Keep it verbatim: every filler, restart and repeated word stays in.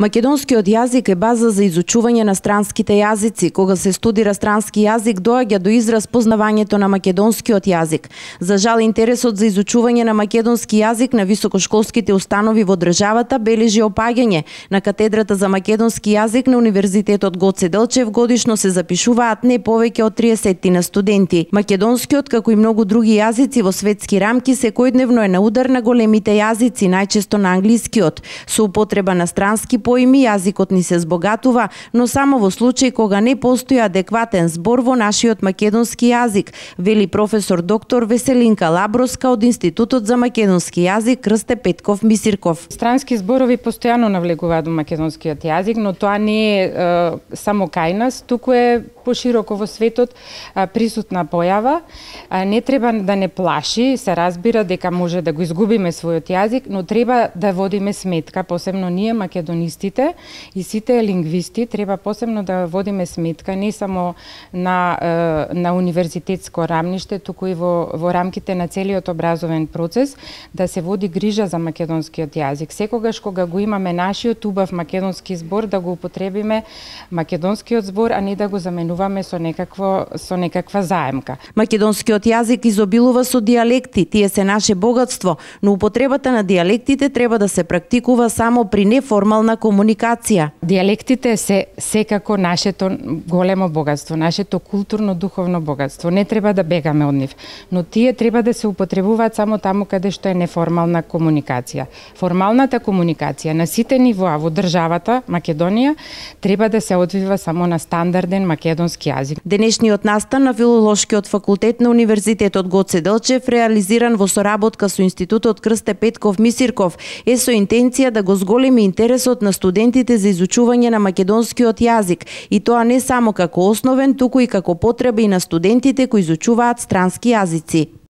Македонскиот јазик е база за изучување на странските јазици. Кога се студира странски јазик, доаѓа до израз познавањето на македонскиот јазик. За жал, интересот за изучување на македонски јазик на високошколските установи во државата бележи опаѓање. На катедрата за македонски јазик на Универзитетот Гоце Делчев годишно се запишуваат не повеќе од триесет на студенти. Македонскиот, како и многу други јазици во светски рамки, секојдневно е на удар на големите јазици, најчесто на англискиот. Со употреба на странски поими јазикот ни се збогатува, но само во случај кога не постои адекватен збор во нашиот македонски јазик, вели професор доктор Веселинка Лаброска од Институтот за македонски јазик Крсте Петков Мисирков. Странски зборови постојано навлегуваат во македонскиот јазик, но тоа не е, е само кај нас, туку е пошироко во светот а, присутна појава. А, не треба да не плаши, се разбира дека може да го изгубиме својот јазик, но треба да водиме сметка, посебно ние македонистите и сите лингвисти треба посебно да водиме сметка не само на на универзитетско рамниште, туку и во во рамките на целиот образовен процес да се води грижа за македонскиот јазик. Секогаш кога го имаме нашиот убав македонски збор да го употребиме македонскиот збор, а не да го заменуваме со некакво со некаква заемка. Македонскиот јазик изобилува со дијалекти, тие се наше богатство, но употребата на дијалектите треба да се практикува само при неформална комуникација. Дијалектите се секако нашето големо богатство, нашето културно-духовно богатство. Не треба да бегаме од нив, но тие треба да се употребуваат само таму каде што е неформална комуникација. Формалната комуникација на сите нивоа во државата Македонија треба да се одвива само на стандарден македонски јазик. Денешниот настан на Филолошкиот факултет на Универзитетот Гоце Делчев, реализиран во соработка со Институтот Крсте Петков Мисирков, е со интенција да го зголеми интересот на студентите за изучување на македонскиот јазик, и тоа не само како основен, туку и како потреба и на студентите кои изучуваат странски јазици.